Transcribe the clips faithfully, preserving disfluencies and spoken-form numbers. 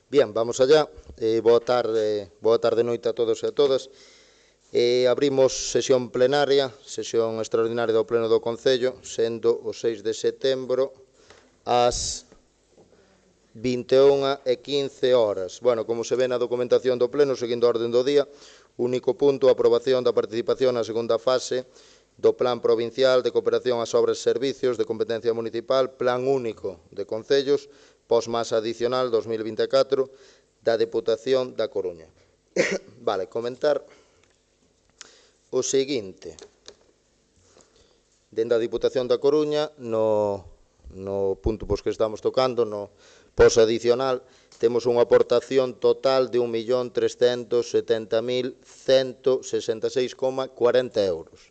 Bien, vamos allá. Eh, boa tarde, boa tarde noite a todos e a todas. Eh, abrimos sesión plenaria, sesión extraordinaria do Pleno do Concello, sendo o seis de setembro ás vinte e unha e quince horas. Bueno, como se ve na documentación do Pleno, seguindo a orden do día, único punto, a aprobación da participación na segunda fase do Plan Provincial de Cooperación ás Obras e Servicios de Competencia Municipal, Plan Único de Concellos, pós-masa adicional dos mil vinte e catro, da Deputación da Coruña. Vale, comentar o seguinte. Dende a Diputación da Coruña, no, no punto pois que estamos tocando, no pós-adicional, temos unha aportación total de un millón trescentos setenta mil cento sesenta e seis coma cuarenta euros,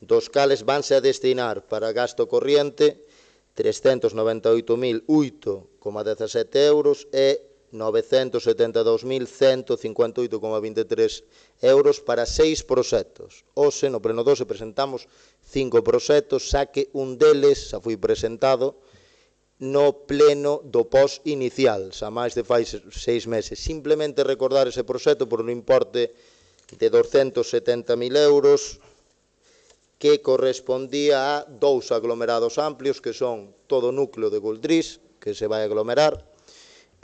dos cales vanse a destinar para gasto corriente trescentos noventa e oito mil oito coma dezasete euros e novecentos setenta e dous mil cento cincuenta e oito coma vinte e tres euros para seis proxectos. Hoxe, no Pleno doce, presentamos cinco proxectos, xa que un deles xa foi presentado no pleno do pós inicial, xa máis de fai seis meses. Simplemente recordar ese proxecto por un importe de doscientos setenta mil euros que correspondía a dous aglomerados amplios, que son todo o núcleo de Guldrís, que se vai aglomerar,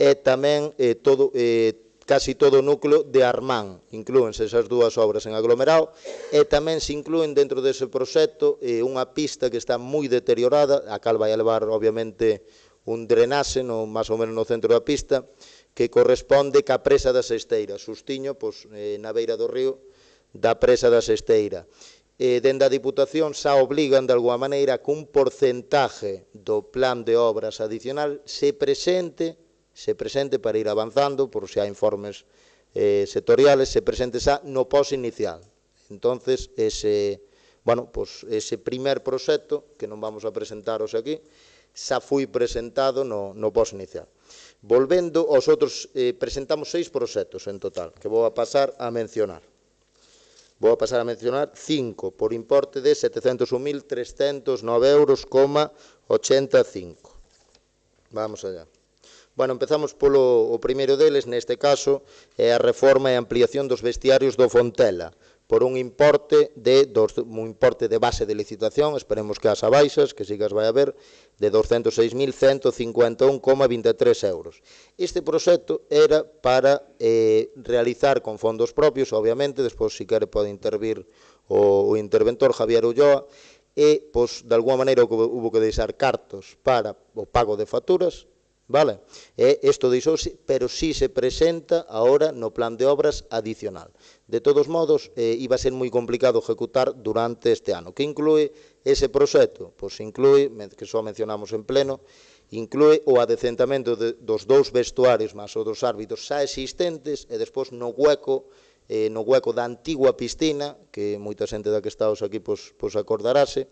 e tamén eh, todo, eh, casi todo o núcleo de Armán. Inclúense esas dúas obras en aglomerado, e tamén se inclúen dentro dese proxecto eh, unha pista que está moi deteriorada, a cal vai a levar, obviamente, un drenaxe, no, máis ou menos no centro da pista, que corresponde ca presa da Sesteira, sustiño, pois, eh, na beira do río, da presa da Sesteira. Eh, dende a Diputación xa obligan, de alguma maneira, que un porcentaje do plan de obras adicional se presente se presente para ir avanzando, por se hai informes eh, sectoriales, se presente xa no pós inicial. Entonces, ese, bueno, pues, ese primer proxecto, que non vamos a presentaros aquí, xa foi presentado no, no pós inicial. Volvendo aos outros, eh, presentamos seis proxectos en total, que vou a pasar a mencionar. Vou a pasar a mencionar cinco, por importe de setecentos un mil trescentos nove euros coma ochenta e cinco. Vamos allá. Bueno, empezamos polo o primeiro deles, neste caso, é a reforma e ampliación dos vestiarios do Fontela, por un importe de dos, un importe de base de licitación, esperemos que as abaixas, que sí que as vai a ver, de doscientos seis mil cento cincuenta e un coma vinte e tres euros. Este proxecto era para eh, realizar con fondos propios, obviamente, despois, se quere, pode intervir o, o interventor Javier Ulloa, e, pois, de alguma maneira, hubo que deixar cartos para o pago de facturas, vale? E isto deixouse, pero si se presenta agora no plan de obras adicional. De todos modos, eh, iba a ser moi complicado ejecutar durante este ano. Que inclúe ese proxecto? Pois inclúe, que só mencionamos en pleno, inclúe o adecentamento de, dos dous vestuarios máis os dos árbitros xa existentes, e despois no hueco, eh, no hueco da antigua piscina, que moita xente da que estamos aquí pois, pois acordarase,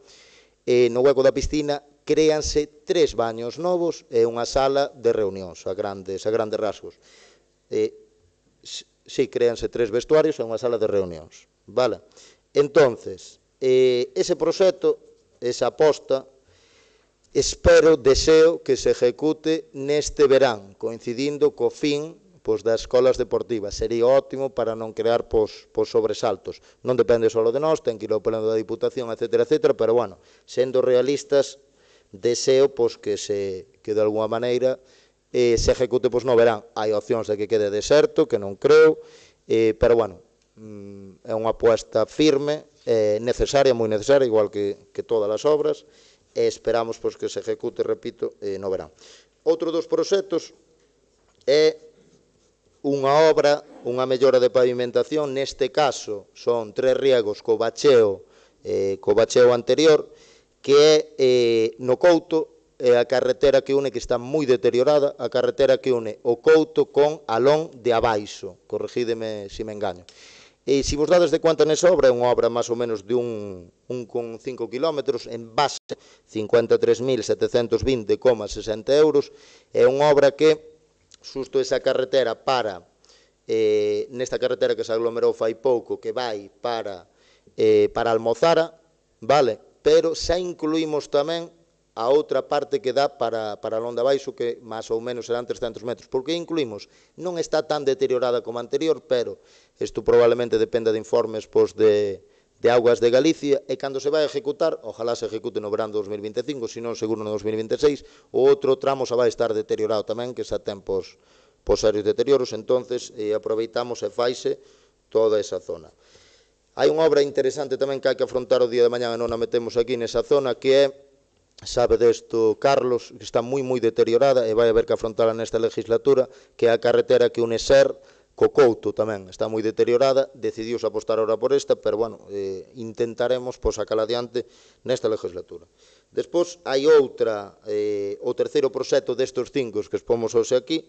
eh, no hueco da piscina créanse tres baños novos e unha sala de reunións, a grandes, a grandes rasgos. Eh, sí, créanse tres vestuarios e unha sala de reunións. Vale? Entonces, eh, ese proxecto, esa aposta, espero, deseo que se ejecute neste verán, coincidindo co fin pois, das escolas deportivas. Sería ótimo para non crear pois, pois, sobresaltos. Non depende só de nós, ten que ir ao pleno da Diputación, etcétera, etcétera, pero, bueno, sendo realistas, deseo pois, que, se, que de alguma maneira eh, se ejecute pois, no verán. Hai opcións de que quede deserto, que non creo, eh, pero, bueno, mm, é unha apuesta firme, eh, necesaria, moi necesaria, igual que, que todas as obras, e esperamos pois, que se ejecute, repito, eh, no verán. Outro dos proxectos é unha obra, unha mellora de pavimentación, neste caso son tres riegos co bacheo, eh, co bacheo anterior, que é eh, no Couto, é a carretera que une, que está moi deteriorada, a carretera que une o Couto con Alón de Abaixo, corregídeme se me engaño. E se vos dades de conta nesa obra, é unha obra máis ou menos de un, un con cinco kilómetros, en base cincuenta e tres mil setecentos vinte coma sesenta euros, é unha obra que, xusto esa carretera para, eh, nesta carretera que se aglomerou fai pouco, que vai para, eh, para Almozara, vale? Pero xa incluímos tamén a outra parte que dá para, para Londa Baixo, que máis ou menos serán trescentos metros. Por que incluímos? Non está tan deteriorada como a anterior, pero isto probablemente dependa de informes pois, de, de Augas de Galicia, e cando se vai a ejecutar, ojalá se ejecute no verán do dos mil vinte e cinco, se non seguro no dos mil vinte e seis, o outro tramo xa vai estar deteriorado tamén, que xa ten pois, pois serios deterioros, entonces eh, aproveitamos e faise toda esa zona. Hai unha obra interesante tamén que hai que afrontar o día de mañá e non a metemos aquí nesa zona, que é, sabe desto Carlos, que está moi moi deteriorada e vai haber que afrontala nesta legislatura, que é a carretera que une Ser co Couto tamén, está moi deteriorada, decidiuse apostar ahora por esta, pero bueno, eh, intentaremos pois, sacar adiante nesta legislatura. Despois hai outra, eh, o terceiro proxecto destes cinco que expomos hoxe aquí,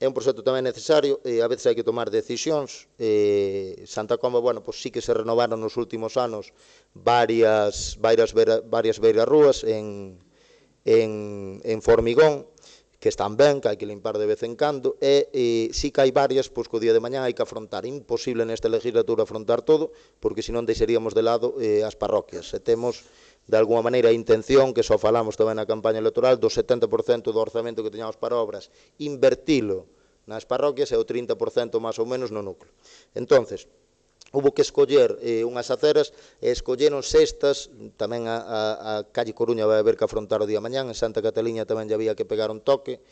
é un proxecto tamén necesario, e a veces hai que tomar decisións. Eh, Santa Comba, bueno, pois sí que se renovaron nos últimos anos varias, varias, varias beirarrúas en, en, en Formigón, que están ben, que hai que limpar de vez en cando, e, e sí que hai varias, pois que o día de mañá hai que afrontar. Imposible nesta legislatura afrontar todo, porque senón deixaríamos de lado eh, as parroquias. E temos, de alguma maneira, a intención, que só falamos tamén na campaña electoral, do setenta por cento do orzamento que teñamos para obras, invertilo nas parroquias e o trinta por cento máis ou menos no núcleo. Entonces, hubo que escoller eh, unhas aceras, e escolleron estas, tamén a, a, a calle Coruña vai haber que afrontar o día mañán, en Santa Catalina tamén lle había que pegar un toque,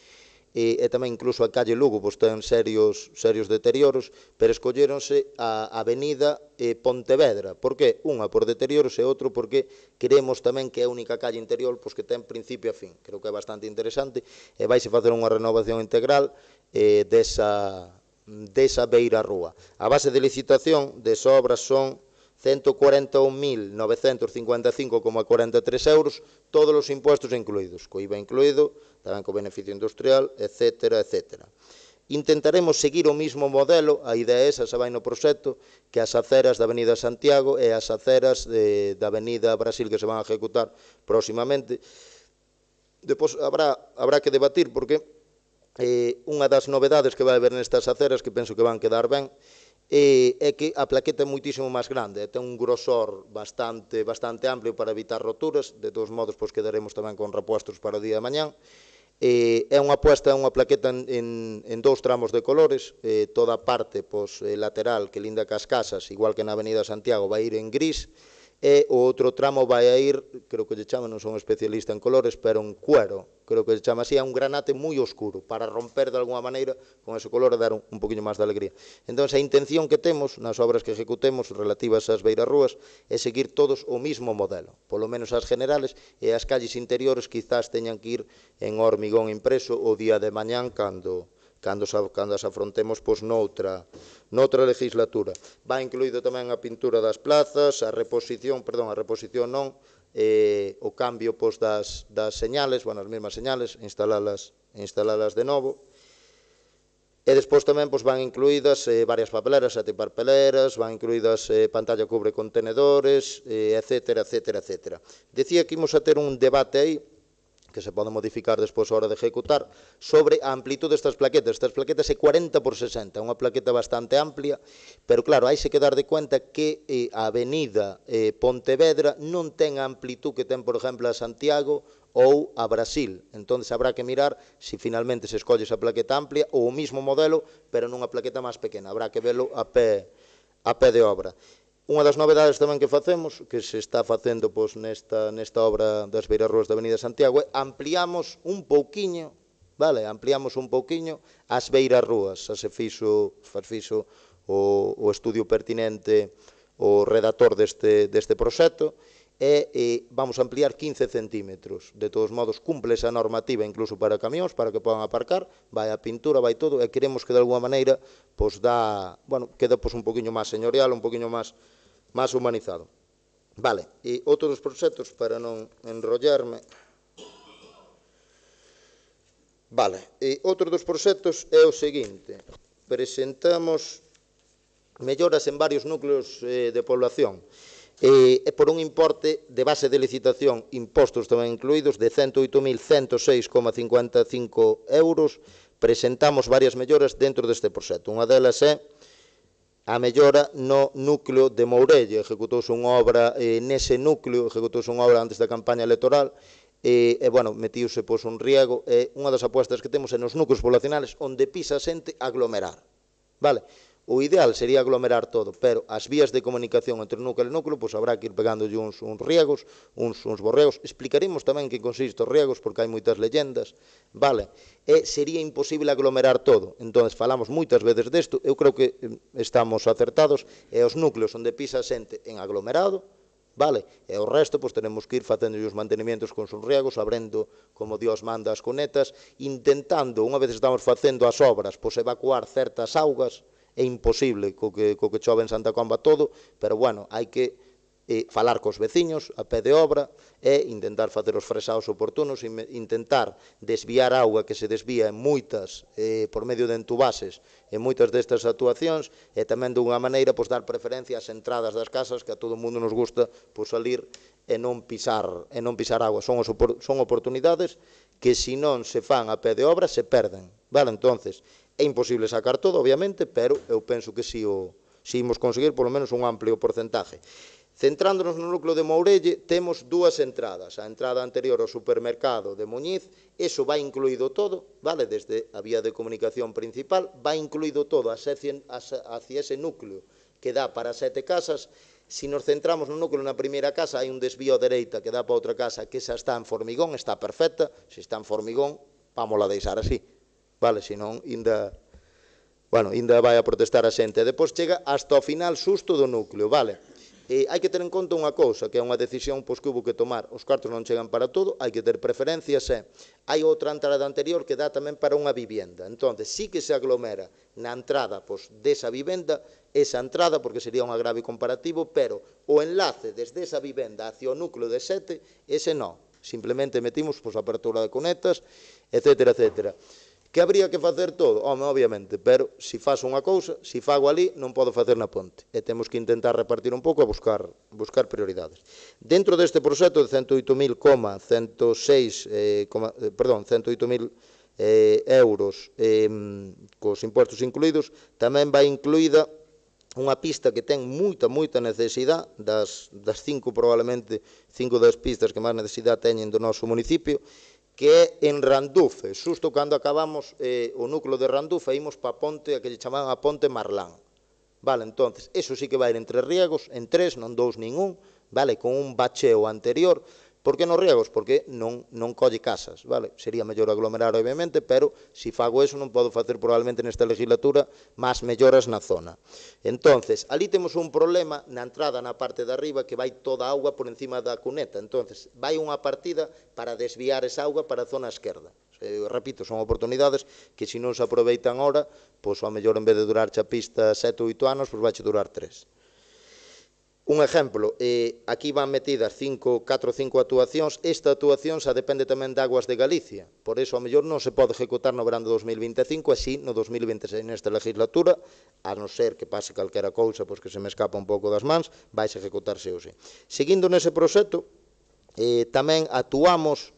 e, e tamén incluso a calle Lugo pois ten serios, serios deterioros, pero escolleronse a avenida eh, Pontevedra. Por que? Unha por deterioros e outro porque queremos tamén que é a única calle interior pois que ten principio a fin. Creo que é bastante interesante e vaise facer unha renovación integral eh, desa, desa beira rúa. A base de licitación desa obra son ciento cuarenta e un mil novecentos cincuenta e cinco coma cuarenta e tres euros, todos os impuestos incluídos, co I V A incluído, tamén co beneficio industrial, etcétera, etcétera. Intentaremos seguir o mismo modelo, a idea esa se vai no proxecto, que as aceras da Avenida Santiago e as aceras de, da Avenida Brasil que se van a ejecutar próximamente. Depois habrá, habrá que debatir, porque eh, unha das novedades que vai haber nestas aceras, que penso que van quedar ben, E é que a plaqueta é moitísimo máis grande, ten un grosor bastante, bastante amplio para evitar roturas, de todos modos pois quedaremos tamén con repuestos para o día de mañán. E é unha apuesta, é unha plaqueta en, en, en dous tramos de colores, eh, toda a parte pois, lateral que linda cas casas, igual que na Avenida Santiago, vai ir en gris, e o outro tramo vai a ir, creo que lle chama, non son especialista en colores, pero en cuero, creo que lle chama así, é un granate moi oscuro, para romper de alguma maneira con ese color e dar un, un poquinho máis de alegría. Entón, a intención que temos nas obras que ejecutemos relativas ás beirarrúas é seguir todos o mismo modelo, polo menos as generales, e as calles interiores quizás teñan que ir en hormigón impreso o día de mañán cando... cando, cando as afrontemos pois, noutra, noutra legislatura. Vai incluído tamén a pintura das plazas, a reposición, perdón, a reposición non, eh, o cambio pois, das, das señales, bueno, as mesmas señales, instalalas, instalalas de novo. E despois tamén pois, van incluídas eh, varias papeleras, sete papeleras, van incluídas eh, pantalla cubre contenedores, eh, etcétera, etcétera, etcétera. Decía que imos a ter un debate aí, que se pode modificar despois a hora de ejecutar, sobre a amplitud destas plaquetas. Estas plaquetas é cuarenta por sesenta, unha plaqueta bastante amplia, pero claro, hai se que dar de cuenta que eh, a avenida eh, Pontevedra non ten a amplitud que ten, por exemplo, a Santiago ou a Brasil. Entón, habrá que mirar se si finalmente se escolle esa plaqueta amplia ou o mismo modelo, pero nunha plaqueta máis pequena. Habrá que velo a pé, a pé de obra. Unha das novedades tamén que facemos, que se está facendo pois, nesta, nesta obra das beirarrúas da Avenida Santiago, é ampliamos un pouquiño, vale, ampliamos un pouquiño as beirarrúas. Xa se fixo, fixo o, o estudio pertinente, o redactor deste, deste proxecto, e, e vamos a ampliar quince centímetros. De todos modos, cumple esa normativa incluso para camións, para que podan aparcar, vai a pintura, vai todo, e queremos que de alguma maneira pois, dá, bueno, queda pois, un poquinho máis señorial, un poquinho máis máis humanizado. Vale, e outro dos proxectos, para non enrollarme, vale, e outro dos proxectos é o seguinte, presentamos melloras en varios núcleos eh, de población, e, e por un importe de base de licitación, impostos tamén incluídos, de cento oito mil ciento seis coma cincuenta e cinco euros, presentamos varias melloras dentro deste proxecto. Unha delas é a mellora no núcleo de Mourelle. Ejecutouse unha obra eh, nese núcleo, ejecutouse unha obra antes da campaña electoral, e, e bueno, metiuse pois, un riego, e unha das apuestas que temos é nos núcleos poblacionales onde pisa a xente aglomerar, vale? O ideal sería aglomerar todo, pero as vías de comunicación entre núcleo e núcleo, pois habrá que ir pegándolle uns, uns riegos, uns, uns borregos. Explicaremos tamén que consiste os riegos, porque hai moitas leyendas, vale? E sería imposible aglomerar todo. Entón, falamos moitas veces desto, eu creo que estamos acertados, e os núcleos onde pisa a xente en aglomerado, vale? E o resto, pois, tenemos que ir facendo os mantenimentos con os riegos, abrendo, como Dios manda, as cunetas, intentando, unha vez estamos facendo as obras, pois, evacuar certas augas. É imposible co que, co que chove en Santa Comba todo, pero, bueno, hai que eh, falar cos veciños a pé de obra e intentar facer os fresados oportunos, e intentar desviar auga que se desvía en moitas, eh, por medio de entubases, en moitas destas actuacións, e tamén dunha maneira, pois, dar preferencia ás entradas das casas, que a todo o mundo nos gusta, pois, salir e non pisar, e non pisar agua. Son, os, son oportunidades que, se non se fan a pé de obra, se perden, vale? Entonces, é imposible sacar todo, obviamente, pero eu penso que si, o, si imos conseguir polo menos un amplio porcentaje. Centrándonos no núcleo de Mourelle, temos dúas entradas. A entrada anterior ao supermercado de Muñiz, eso vai incluído todo, vale? Desde a vía de comunicación principal, vai incluído todo hacia, hacia ese núcleo que dá para sete casas. Si nos centramos no núcleo na primeira casa, hai un desvío a dereita que dá para outra casa que xa está en formigón, está perfecta. Se está en formigón, vámola deixar así. Vale, senón, inda, bueno, inda vai a protestar a xente. Depois chega hasta o final susto do núcleo, vale? E hai que ter en conta unha cousa, que é unha decisión pois, que hubo que tomar. Os cartos non chegan para todo, hai que ter preferencias, e hai outra entrada anterior que dá tamén para unha vivienda. Entón, sí que se aglomera na entrada pois, desa vivenda, esa entrada, porque sería un agravio comparativo, pero o enlace desde esa vivenda hacia o núcleo de sete, ese non. Simplemente metimos pois, a apertura de cunetas, etcétera, etcétera. Que habría que facer todo? Home, obviamente, pero se faz unha cousa, se fago ali, non podo facer na ponte. E temos que intentar repartir un pouco e buscar, buscar prioridades. Dentro deste proxecto de ciento oito mil ciento seis, eh, coma, eh, perdón, ciento oito mil eh, euros eh, cos impostos incluídos, tamén vai incluída unha pista que ten moita, moita necesidade, das, das cinco, probablemente, cinco das pistas que máis necesidade teñen do noso municipio, que é en Randufe. Xusto cando acabamos eh, o núcleo de Randufe, ímos pa ponte, a que lle chamaban a ponte Marlán. Vale, entonces, eso sí que vai en tres riegos, en tres, non dous nin un, vale, con un bacheo anterior. Por que nos riegos? Porque non, non colle casas, vale? Sería mellor aglomerar, obviamente, pero se fago eso non podo facer probablemente nesta legislatura máis melloras na zona. Entonces, ali temos un problema na entrada na parte de arriba que vai toda a auga por encima da cuneta. Entonces, vai unha partida para desviar esa auga para a zona esquerda. Eu repito, son oportunidades que se non se aproveitan ahora, pois ao mellor en vez de durar a pista sete ou oito anos, pois vai durar tres. Un exemplo, eh, aquí van metidas cinco, catro ou cinco actuacións. Esta actuación xa depende tamén de Aguas de Galicia, por iso ao mellor non se pode ejecutar no verano de dos mil vinte e cinco, así no dos mil vinte e seis nesta legislatura, a non ser que pase calquera cousa, pois que se me escapa un pouco das mans, vais a ejecutarse hoxe. Seguindo nese proxecto, eh, tamén actuamos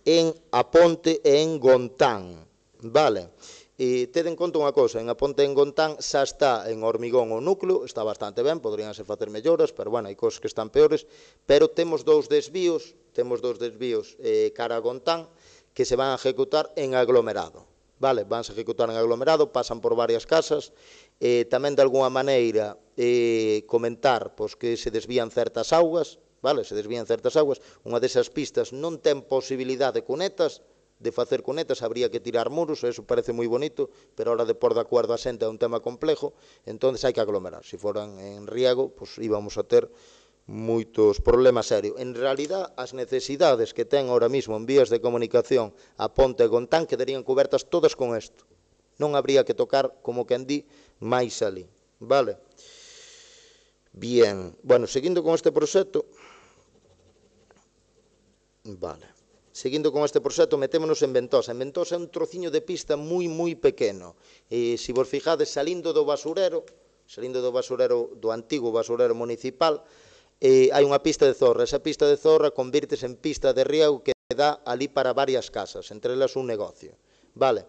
en A Ponte e en Gontán, vale? E tede en conta unha cousa, en A Ponte en Gontán xa está en hormigón o núcleo, está bastante ben, poderíanse facer melloras, pero bueno, hai cousas que están peores, pero temos dous desvíos, temos dous desvíos eh, cara a Gontán, que se van a ejecutar en aglomerado, vale? Vanse a ejecutar en aglomerado, pasan por varias casas, eh, tamén de alguna maneira eh, comentar pois, que se desvían certas augas, vale? Se desvían certas augas, unha desas pistas non ten posibilidade de cunetas, de facer cunetas, habría que tirar muros, eso parece moi bonito, pero a hora de pôr de acordo a xente é un tema complejo, entón hai que aglomerar. Se foran en riego, pois íbamos a ter moitos problemas serios. En realidad, as necesidades que ten ahora mismo en vías de comunicación a Ponte e Gontán quedarían cobertas todas con isto. Non habría que tocar, como quen di, máis ali, vale? Bien, bueno, seguindo con este proxecto, vale. Seguindo con este proxecto, metémonos en Ventosa. En Ventosa é un trociño de pista moi, moi pequeno. E, se vos fijades, salindo do basurero, salindo do basurero, do antigo basurero municipal, eh, hai unha pista de zorra. Esa pista de zorra convírtese en pista de riego que dá ali para varias casas, entre elas un negocio. Vale.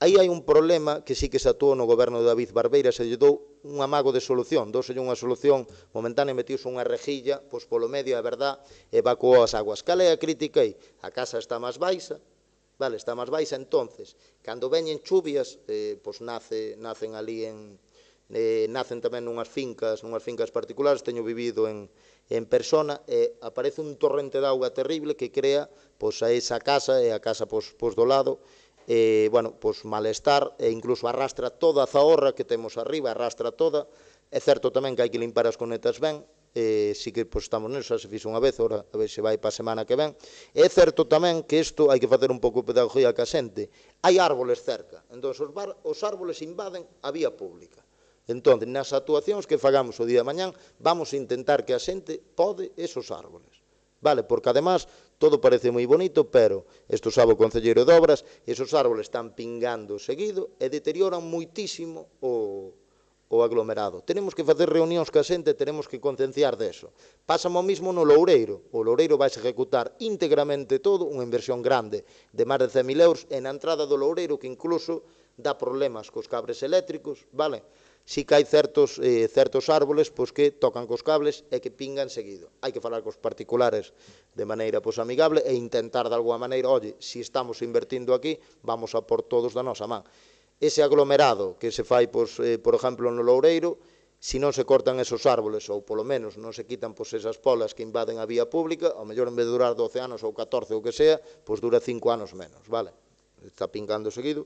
Aí hai un problema que sí que se actuou no goberno de David Barbeira, se lle dou un amago de solución, douselle unha solución momentánea, metiuse unha rejilla, pois polo medio, é verdad, evacuou as aguas. Cal é a crítica aí? A casa está máis baixa, vale, está máis baixa, entonces, cando veñen chuvias, eh, pois nace, nacen ali en, eh, nacen tamén nunhas fincas, nunhas fincas particulares, teño vivido en, en persona, e eh, aparece un torrente de auga terrible que crea, pois, a esa casa, e a casa, pois, pois do lado, eh, bueno, pois malestar, e incluso arrastra toda a zahorra que temos arriba, arrastra toda. É certo tamén que hai que limpar as conetas ben, eh, si que pois, estamos neso, xa se fixo unha vez, ora a ver se vai para a semana que ven. É certo tamén que isto hai que facer un pouco de pedagogía ca xente. Hai árboles cerca, entón os, bar, os árboles invaden a vía pública. Entón, nas actuacións que fagamos o día de mañán, vamos a intentar que a xente pode esos árboles. Vale, porque además todo parece moi bonito, pero isto sabe o concelleiro de obras, esos árboles están pingando seguido e deterioran moitísimo o, o aglomerado. Tenemos que facer reunións ca xente, tenemos que concienciar deso. Pásame o mismo no Loureiro. O Loureiro vai executar íntegramente todo, unha inversión grande de máis de cen mil euros, e na entrada do Loureiro que incluso dá problemas cos cabres eléctricos, vale? Si que hai certos, eh, certos árboles pois, que tocan cos cables e que pingan seguido. Hai que falar cos particulares de maneira pois, amigable e intentar de alguma maneira, oye, si estamos invertindo aquí, vamos a por todos da nosa man. Ese aglomerado que se fai, pois, eh, por exemplo, no Loureiro, si non se cortan esos árboles, ou polo menos non se quitan pois, esas polas que invaden a vía pública, ao mellor en vez de durar doce anos ou catorce ou que sea, pois dura cinco anos menos, vale? Está pingando seguido.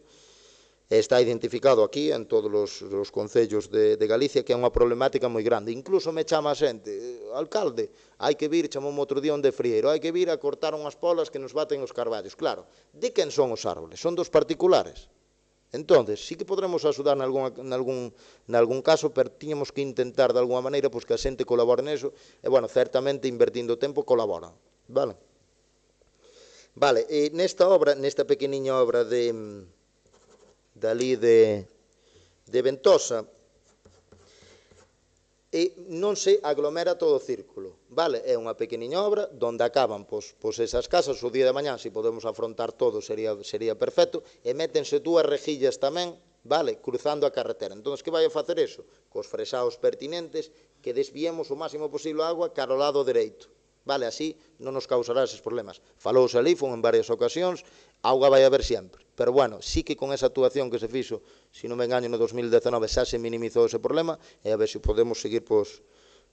Está identificado aquí en todos os, os concellos de, de Galicia que é unha problemática moi grande. Incluso me chama a xente, alcalde, hai que vir, chamou outro día onde frieiro, hai que vir a cortar unhas polas que nos baten os carballos. Claro, de quen son os árboles? Son dos particulares. Entonces, sí que podremos axudar nalgún, nalgún, nalgún caso, pero tiñamos que intentar de alguma maneira pois, que a xente colabore neso, e, bueno, certamente, invertindo tempo, colaboran. Vale? Vale, e nesta obra, nesta pequeniña obra de... dali de, de Ventosa, e non se aglomera todo o círculo, vale? É unha pequeniña obra onde acaban pois, pois esas casas, o día de mañán, se podemos afrontar todo, sería, sería perfecto, e métense dúas rejillas tamén, vale? Cruzando a carretera. Entón, que vai a facer eso? Cos fresaos pertinentes, que desviemos o máximo posible a agua cara ao lado dereito. Vale, así non nos causará eses problemas. Falouse ali, fun en varias ocasións, auga vai haber sempre. Pero, bueno, sí que con esa actuación que se fixo, se non me engaño, no dos mil dezanove xa se minimizou ese problema, e a ver se podemos seguir, pois,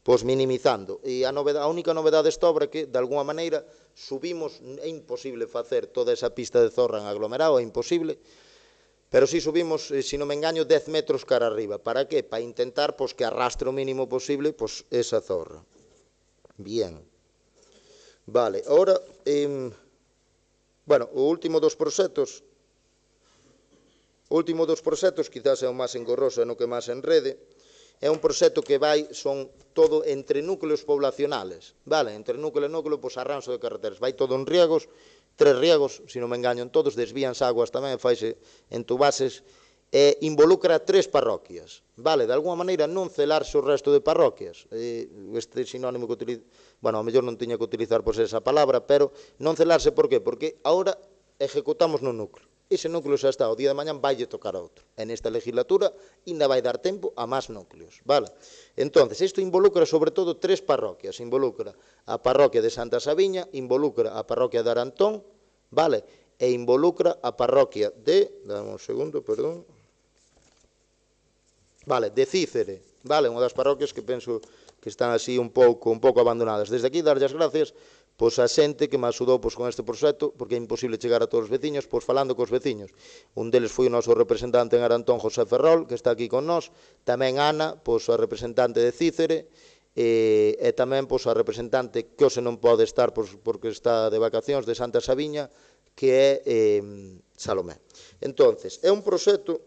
pois minimizando. E a, novedade, a única novedade desta obra é que, de alguna maneira, subimos, é imposible facer toda esa pista de zorra en aglomerado, é imposible, pero si subimos, se non me engaño, dez metros cara arriba. Para que? Para intentar pois, que arrastre o mínimo posible pois, esa zorra. Bien. Vale, ahora, eh, bueno, o último dos proxectos, o último dos proxectos, quizás é o máis engorroso e no que máis enrede, é un proxecto que vai, son todo entre núcleos poblacionales, vale, entre núcleo e núcleo, pois arranxo de carreteras, vai todo en riegos, tres riegos, se non me engaño en todos, desvíanse aguas tamén, faise entubases, e involucra tres parroquias, vale, de alguma maneira non celarse o resto de parroquias, eh, este sinónimo que utilizo, bueno, ao mellor non tiña que utilizar pois esa palabra, pero non celarse, por qué? Porque agora ejecutamos no núcleo, ese núcleo xa está, o día de mañán vai tocar a outro, e nesta legislatura ainda vai dar tempo a máis núcleos, vale? Entonces, isto involucra sobre todo tres parroquias, involucra a parroquia de Santa Sabiña, involucra a parroquia de Arantón, vale? E involucra a parroquia de, dame un segundo, perdón, vale, de Cícere, vale, unha das parroquias que penso que están así un pouco un pouco abandonadas. Desde aquí, darlle as gracias pois a xente que me axudou pois, con este proxecto, porque é imposible chegar a todos os veciños, pois falando cos veciños. Un deles foi o noso representante en Arantón, José Ferrol, que está aquí con nós, tamén Ana, pois a representante de Cícere, e, e tamén pois a representante que hoxe non pode estar pois, porque está de vacacións de Santa Sabiña, que é eh, Salomé. Entonces, é un proxecto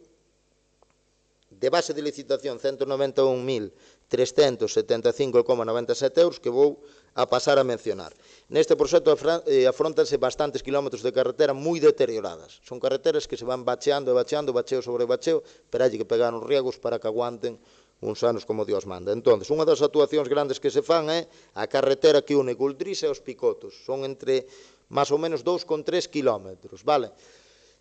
de base de licitación ciento noventa e un mil trescentos setenta e cinco coma noventa e sete euros que vou a pasar a mencionar. Neste proxecto afrontanse bastantes kilómetros de carretera moi deterioradas. Son carreteras que se van bacheando e bacheando, bacheo sobre bacheo, pero hai que pegar uns riegos para que aguanten uns anos como Dios manda. Entón, unha das actuacións grandes que se fan é a carretera que une Guldrís e os Picotos. Son entre máis ou menos dous con tres kilómetros, vale?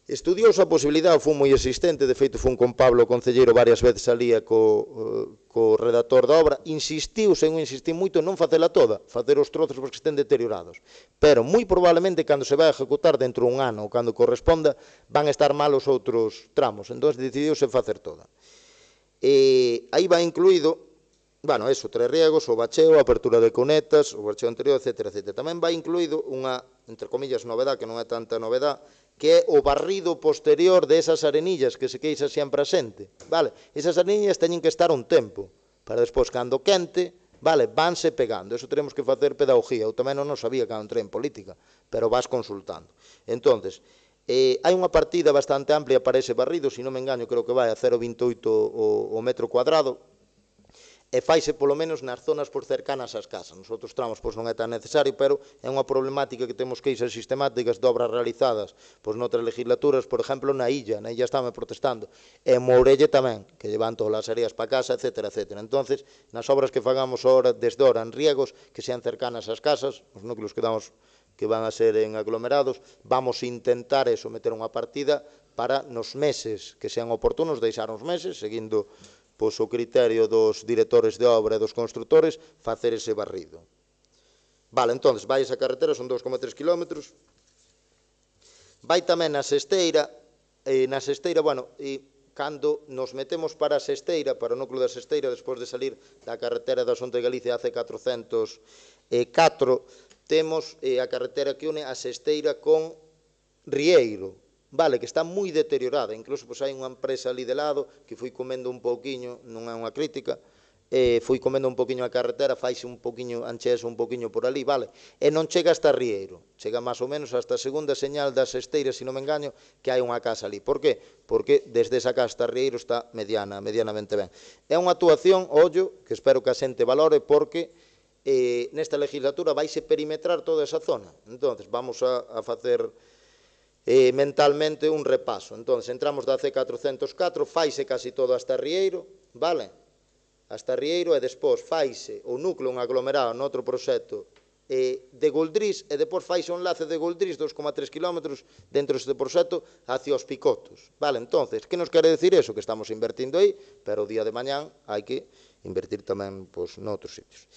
Estudiouse a posibilidade, foi moi existente, de feito fun con Pablo Concelleiro varias veces alía co, co redactor da obra, insistiu, sen non insistir moito, non facela toda, facer os trozos porque estén deteriorados. Pero, moi probablemente, cando se vai a ejecutar dentro de un ano, ou cando corresponda, van estar mal os outros tramos. Entón, decidiuse facer toda. E aí vai incluído, bueno, eso, tres riegos, o bacheo, a apertura de cunetas, o bacheo anterior, etcétera, etcétera. Tamén vai incluído unha, entre comillas, novedad, que non é tanta novedad, que é o barrido posterior de esas arenillas que se queixa sempre asente, vale? Esas arenillas teñen que estar un tempo, para despois, cando quente, vale, vanse pegando. Eso teremos que facer pedagogía. Eu tamén non sabía cando entrei en política, pero vas consultando. Entonces, eh, hai unha partida bastante amplia para ese barrido, se non me engaño, creo que vai a cero vinte e oito o, o metro cuadrado, e faise polo menos nas zonas por cercanas ás casas. Nos outros tramos pois non é tan necesario, pero é unha problemática que temos queixas sistemáticas de obras realizadas pois noutras legislaturas, por exemplo, na Illa, na Illa estame protestando, e en Mourelle tamén, que llevan todas as areas para casa, etcétera, etcétera. Entonces, nas obras que fagamos ahora, desde ahora en riegos, que sean cercanas ás casas, os núcleos que damos que van a ser en aglomerados, vamos a intentar eso, meter unha partida para nos meses que sean oportunos, deixar uns meses, seguindo pois o criterio dos directores de obra e dos constructores, facer ese barrido. Vale, entón, vai esa carretera, son dous coma tres kilómetros. Vai tamén na Sesteira, e na Sesteira, bueno, e cando nos metemos para a Sesteira, para o núcleo da Sesteira, despois de salir da carretera da Xunta de Galicia A C catrocentos e catro, temos eh, a carretera que une a Sesteira con Rieiro, vale, que está moi deteriorada, incluso pois, hai unha empresa ali de lado que foi comendo un pouquiño, non é unha crítica, eh, foi comendo un pouquiño a carretera, faise un pouquiño, anchease un pouquiño por ali, vale, e non chega hasta Rieiro, chega máis ou menos hasta a segunda señal das Esteiras, se non me engaño, que hai unha casa ali. Por qué? Porque desde esa casa hasta Rieiro está mediana, medianamente ben. É unha actuación, ollo, que espero que a xente valore, porque eh, nesta legislatura vaise perimetrar toda esa zona. Entonces, vamos a, a facer Eh, mentalmente un repaso. Entón, entramos da C catrocentos e catro, faise casi todo hasta Rieiro, vale? Hasta Rieiro e despois faise o núcleo un aglomerado noutro proxecto eh, de Goldrís e depois faise un enlace de Goldrís, dos coma tres kilómetros dentro deste proxecto hacia os Picotos, vale? Entonces, que nos quere decir eso? Que estamos invertindo aí, pero o día de mañán hai que invertir tamén pois, noutros sitios.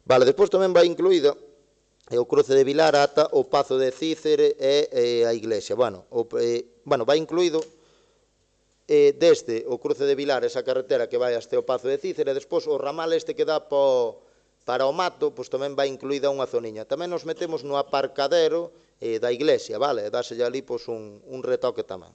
Vale, despois tamén vai incluída e o cruce de Vilar ata o Pazo de Cícere e, e a iglesia. Bueno, o, eh, bueno, vai incluído eh, desde o cruce de Vilar, esa carretera que vai hasta o Pazo de Cícere, e despois o ramal este que dá po, para o mato, pois tamén vai incluída unha zoniña. Tamén nos metemos no aparcadero eh, da iglesia, vale? Dáselle ali pois, un, un retoque tamén.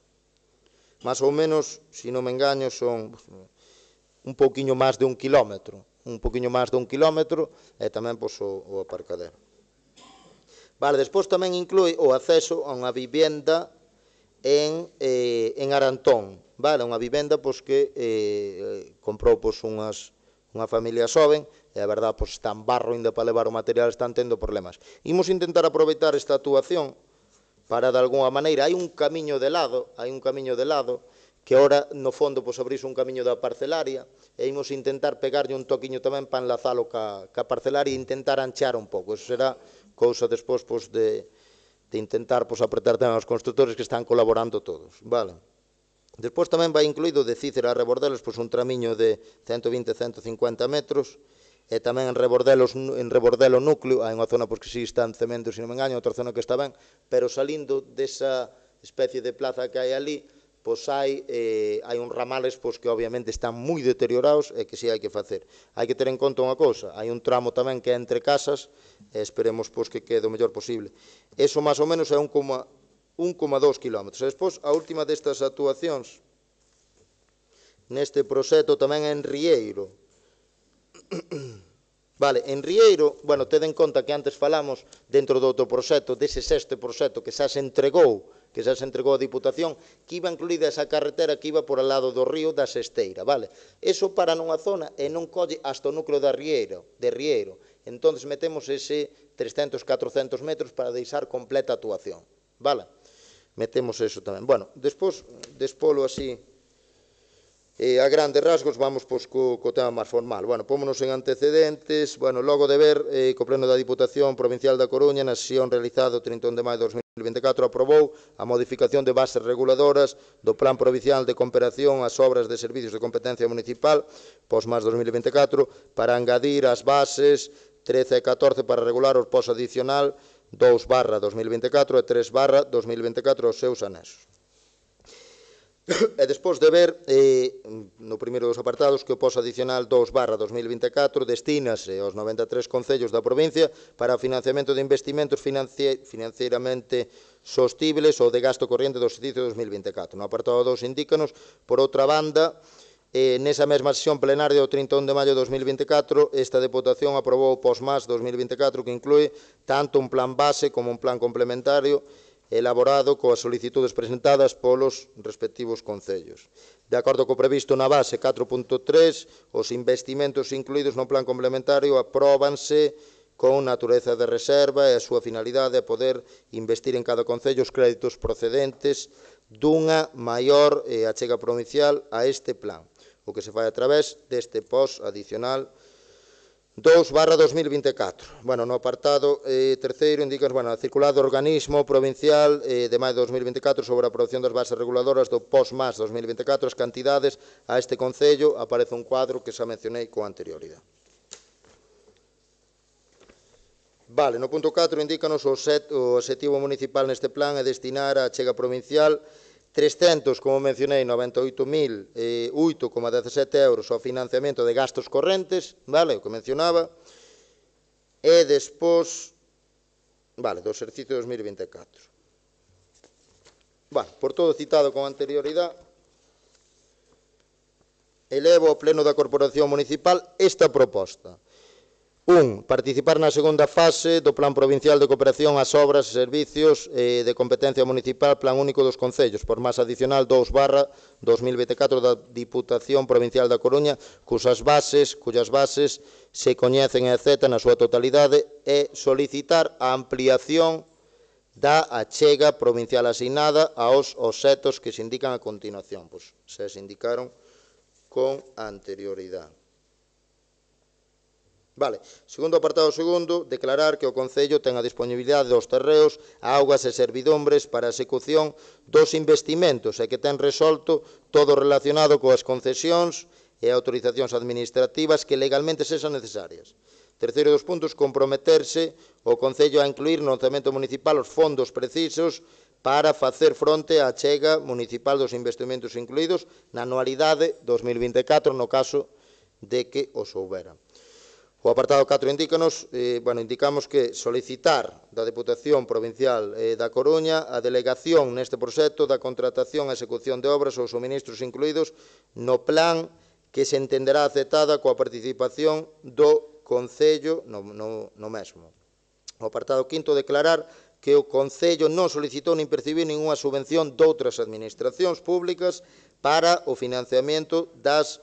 Más ou menos, se non me engaño, son un pouquiño máis de un kilómetro. Un pouquiño máis de un kilómetro e tamén pois, o, o aparcadero. Vale, despois tamén inclúe o acceso a unha vivenda en, eh, en Arantón, vale, unha vivenda pois, que eh, comprou pois, unhas, unha familia xoven, e a verdad pois, está en barro ainda para levar o material, están tendo problemas. Imos intentar aproveitar esta actuación para, de alguna maneira, hai un camiño de lado, hai un camiño de lado, que ora, no fondo, pois, abrise un camiño da parcelaria, e imos intentar pegarlle un toquiño tamén para enlazalo ca, ca parcelaria e intentar anchear un pouco. Eso será cousa despois pois, de, de intentar pois, apretar tamén aos constructores que están colaborando todos, vale? Despois tamén vai incluído de Cícero a Rebordelos pois, un tramiño de ciento vinte a ciento cincuenta metros, e tamén en Rebordelos, en Rebordelo núcleo, hai unha zona pois, que si está en cemento, se non me engaño, outra zona que está ben, pero salindo desa especie de plaza que hai ali, pois hai, eh, hai uns ramales pois, que obviamente están moi deteriorados e que si hai que facer. Hai que ter en conta unha cousa, hai un tramo tamén que é entre casas e esperemos pois, que quede o mellor posible. Eso máis ou menos é un coma dous kilómetros. E despois, a última destas actuacións neste proxecto tamén é en Rieiro. Vale, en Rieiro, bueno, tede en conta que antes falamos dentro do outro proxecto, dese sexto proxecto que xa se entregou que xa se entregou a Diputación, que iba incluída esa carretera que iba por al lado do río da Sesteira, vale? Eso para nunha zona e non colle hasta o núcleo da Rieiro, de Rieiro. Entón, metemos ese trescentos a catrocentos metros para deixar completa a actuación, vale? Metemos eso tamén. Bueno, despois, despolo así, eh, a grandes rasgos, vamos pois, co, co tema máis formal. Bueno, pómonos en antecedentes, bueno, logo de ver, eh, co pleno da Diputación Provincial da Coruña, na sesión realizada o trinta e un de maio de dos mil dos mil vinte e catro aprobou a modificación de bases reguladoras do Plan Provincial de Cooperación ás obras de servicios de competencia municipal pos máis dos mil vinte e catro para engadir as bases trece e catorce para regular o pos adicional dous barra dos mil vinte e catro e tres barra dos mil vinte e catro os seus anexos. E despois de ver, eh, no primeiro dos apartados, que o pos adicional dous barra dos mil vinte e catro destínase aos noventa e tres concellos da provincia para o financiamento de investimentos financieramente sostibles ou de gasto corriente do exercicio dos mil vinte e catro. No apartado dous indícanos, por outra banda, eh, nesa mesma sesión plenaria do trinta e un de maio de dos mil vinte e catro, esta Deputación aprobou o pos más dos mil vinte e catro que inclúe tanto un plan base como un plan complementario elaborado coas solicitudes presentadas polos respectivos concellos. De acordo co previsto na base catro punto tres, os investimentos incluídos no plan complementario apróbanse con natureza de reserva e a súa finalidade é poder investir en cada concello os créditos procedentes dunha maior eh, achega provincial a este plan, o que se fai a través deste pos adicional dous barra dos mil vinte e catro. Bueno, no apartado eh, terceiro indican, bueno, a circular do organismo provincial eh, de maio de dos mil vinte e catro sobre a aprobación das bases reguladoras do pos más dos mil vinte e catro, as cantidades a este concello, aparece un cuadro que xa mencionei con anterioridade. Vale, no punto catro indícanos o, set, o objetivo municipal neste plan é destinar a achega provincial trescentos, como mencionei, noventa e oito mil oito coma dezasete euros ao financiamento de gastos correntes, vale, o que mencionaba, e despois, vale, do exercicio dos mil vinte e catro. Vale, por todo citado con anterioridade, elevo ao Pleno da Corporación Municipal esta proposta. un. Participar na segunda fase do Plan Provincial de Cooperación ás obras e servicios eh, de competencia municipal Plan Único dos Concellos, por máis adicional dous barra dos mil vinte e catro da Diputación Provincial da Coruña, cusas bases, cuyas bases se coñecen e aceptan na súa totalidade, e solicitar a ampliación da achega provincial asignada aos obxectos que se indican a continuación. Pois se se indicaron con anterioridade. Vale. Segundo apartado segundo, declarar que o Concello ten a disponibilidade dos terreos, augas e servidumbres para a execución dos investimentos e que ten resolto todo relacionado coas concesións e autorizacións administrativas que legalmente sexan necesarias. Terceiro dos puntos, comprometerse o Concello a incluir no orçamento municipal os fondos precisos para facer fronte á achega municipal dos investimentos incluídos na anualidade dos mil vinte e catro no caso de que os houbera. O apartado catro indícanos, eh, bueno, indicamos que solicitar da Deputación Provincial eh, da Coruña a delegación neste proxecto da contratación e execución de obras ou suministros incluídos no plan que se entenderá aceptada coa participación do Concello no, no, no mesmo. O apartado quinto, declarar que o Concello non solicitou nin percibiu ninguna subvención doutras administracións públicas para o financiamento das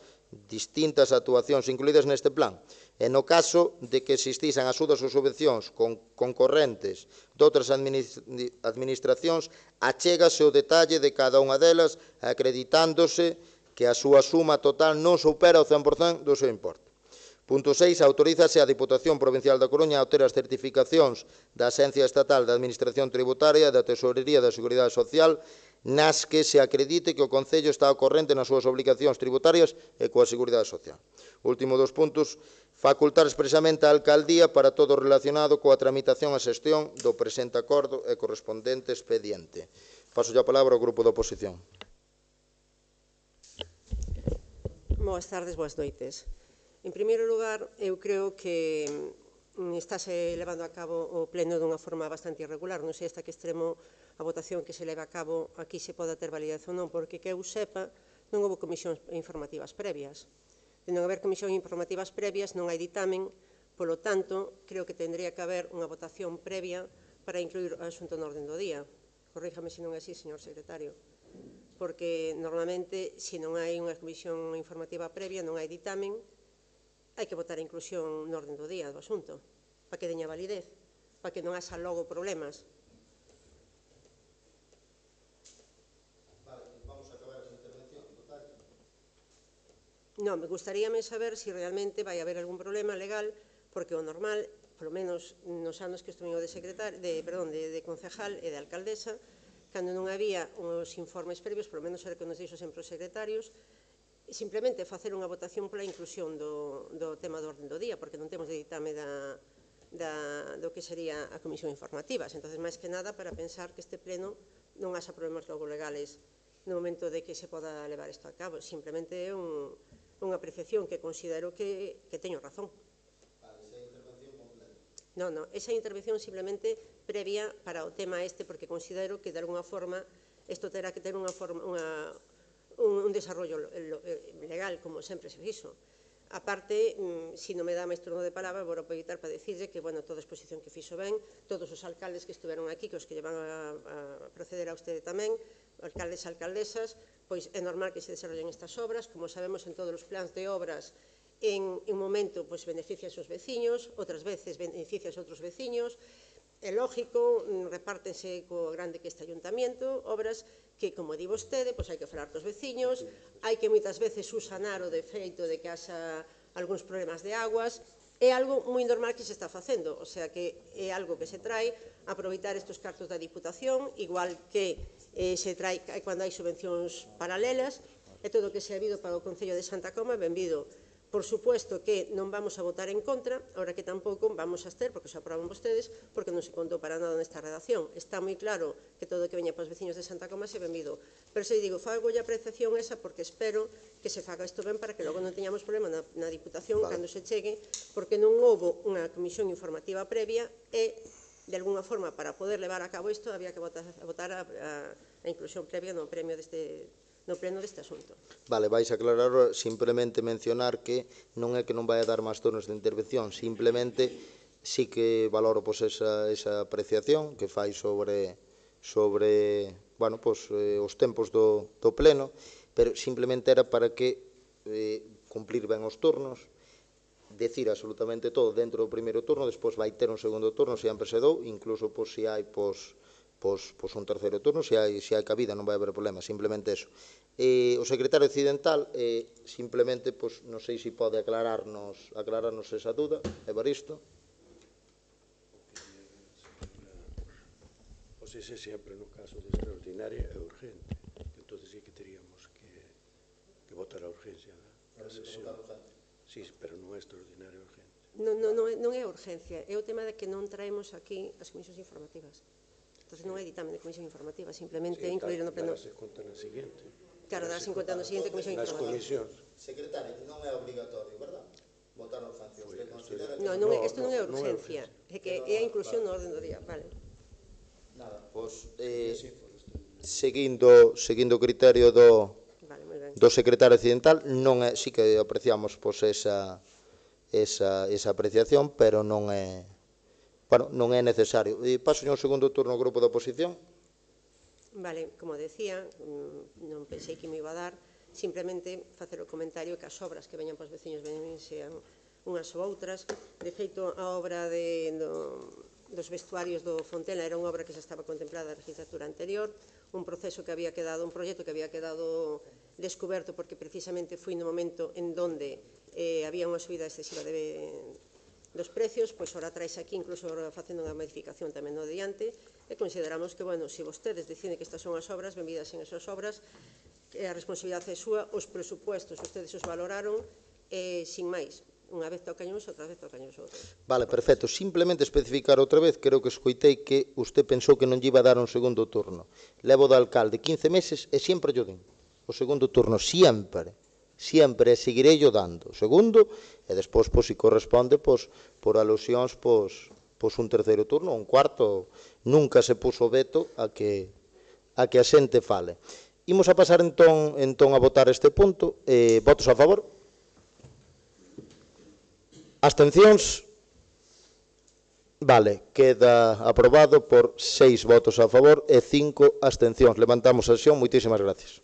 distintas actuacións incluídas neste plan. E no caso de que existisen axudas ou subvencións con concorrentes doutras administracións, achégase o detalle de cada unha delas acreditándose que a súa suma total non supera o cen por cento do seu importe. Punto seis. Autorízase a Diputación Provincial da Coruña a obter as certificacións da Axencia Estatal de Administración Tributaria e da Tesorería da Seguridade Social nas que se acredite que o Concello está ao corrente nas súas obligacións tributarias e coa Seguridade Social. Último dos puntos, facultar expresamente a Alcaldía para todo relacionado coa tramitación e xestión do presente acordo e correspondente expediente. Paso a palabra ao grupo da oposición. Boas tardes, boas noites. En primeiro lugar, eu creo que estáse levando a cabo o pleno dunha forma bastante irregular. Non sei hasta que extremo a votación que se leva a cabo aquí se poda ter validación ou non, porque que eu sepa non houve comisións informativas previas. De non haber comisións informativas previas non hai ditamen, polo tanto, creo que tendría que haber unha votación previa para incluir o asunto no orden do día. Corríjame se non é así, señor secretario. Porque normalmente, se non hai unha comisión informativa previa, non hai ditamen, hai que votar a inclusión no orden do día do asunto, para que teña validez, para que non haxa logo problemas. Non, me gustaríame saber se realmente vai haber algún problema legal, porque o normal polo menos nos anos que estuve de secretaria, de, perdón, de, de concejal e de alcaldesa, cando non había os informes previos, polo menos era que nos dixo sempre os secretarios, simplemente facer unha votación pola inclusión do, do tema do orden do día, porque non temos de ditame da, da, do que sería a comisión informativas. Entón, máis que nada, para pensar que este pleno non haxa problemas logo legales no momento de que se poda levar isto a cabo. Simplemente é un, unha apreciación que considero que, que teño razón. Non, non, esa intervención simplemente previa para o tema este, porque considero que de alguna forma isto terá que ter unha forma, unha, un, un desarrollo legal, como sempre se fixo. A parte, se non me dá máis turno de palabra, vou aproveitar para dicirle que, bueno, toda a exposición que fixo ben, todos os alcaldes que estiveron aquí, que os que llevan a, a proceder a usted tamén, alcaldes e alcaldesas, pois é normal que se desarrollen estas obras, como sabemos en todos os plans de obras, en un momento pois, beneficia a seus veciños, outras veces beneficia a outros veciños, é lógico, repártense co grande que este ayuntamiento, obras que, como di vostede, pois hai que falar cos veciños, hai que moitas veces usanar o defeito de que haxa algúns problemas de aguas, é algo moi normal que se está facendo, o sea que é algo que se trae a aproveitar estes cartos da Diputación, igual que eh, se trae cando hai subvencións paralelas, e todo o que se ha habido para o Concello de Santa Coma, benvido. Por suposto que non vamos a votar en contra, ahora que tampouco vamos a estar, porque se aproban vostedes, porque non se contou para nada nesta redacción. Está moi claro que todo o que veña para os veciños de Santa Coma se benvido. Pero se digo, fago a apreciación esa porque espero que se faga isto ben para que logo non teñamos problema na, na Diputación vale. Cando se chegue, porque non houve unha comisión informativa previa e, de alguna forma, para poder levar a cabo isto, había que votar, votar a, a, a inclusión previa no premio deste no pleno deste asunto. Vale, vais a aclarar, simplemente mencionar que non é que non vai a dar máis turnos de intervención, simplemente sí que valoro pois, esa, esa apreciación que fai sobre, sobre bueno, pois, eh, os tempos do, do pleno, pero simplemente era para que eh, cumplir ben os turnos, decir absolutamente todo dentro do primeiro turno, despois vai ter un segundo turno, sempre se dou, incluso pois, se hai pois, Pois, pois un terceiro turno, se hai, se hai cabida non vai haber problema, simplemente eso. E, o secretario occidental, eh, simplemente, pois, non sei se pode aclararnos, aclararnos esa duda, Evaristo. Pois ese sempre no caso de extraordinaria é urgente, entón sí que teríamos que, que votar a urgencia da sesión. Sí, pero non é extraordinaria urgente. Non, non, non, é, non é urgencia, é o tema de que non traemos aquí as comisións informativas. Entón, non é ditame de comisión informativa, simplemente sí, incluir no pleno. Darase conta na seguinte. Claro, darase conta na seguinte comisión informativa. Nas comisións. Secretario, non é obligatorio, verdad? Votar as sancións. Non, non, isto non é urgencia, é que é a inclusión no orden do día, vale. Nada, pois, eh, seguindo, seguindo o criterio do, vale, do secretario occidental, non é, sí que apreciamos pois, esa, esa, esa apreciación, pero non é... Bueno, non é necesario. E paso ao segundo turno ao grupo da oposición. Vale, como decía, non pensei que me iba a dar, simplemente facer o comentario que as obras que veñan para os veciños veñen sean unhas ou outras. De feito, a obra de, do, dos vestuarios do Fontela era unha obra que xa estaba contemplada na legislatura anterior, un proceso que había quedado, un proxecto que había quedado descoberto porque precisamente foi no momento en donde eh, había unha subida excesiva de dos precios, pois ora traes aquí, incluso facendo unha modificación tamén no diante, e consideramos que, bueno, se vostedes deciden que estas son as obras, benvidas en esas obras, que a responsabilidade é súa, os presupuestos, ustedes os valoraron, e, sin máis, unha vez tocan uns, outra vez tocan os outros. Vale, perfecto. Simplemente especificar outra vez, creo que escoitei que usted pensou que non lle iba a dar un segundo turno. Levo do alcalde quince meses e sempre yo den. O segundo turno, sempre. Sempre seguirei yo dando. Segundo, e despois, pois, se corresponde, pois, por alusións, pois, pois un terceiro turno, un cuarto, nunca se puso veto a que a que a xente fale. Imos a pasar entón, entón a votar este punto. Eh, votos a favor? Abstencións? Vale, queda aprobado por seis votos a favor e cinco abstencións. Levantamos a sesión. Moitísimas gracias.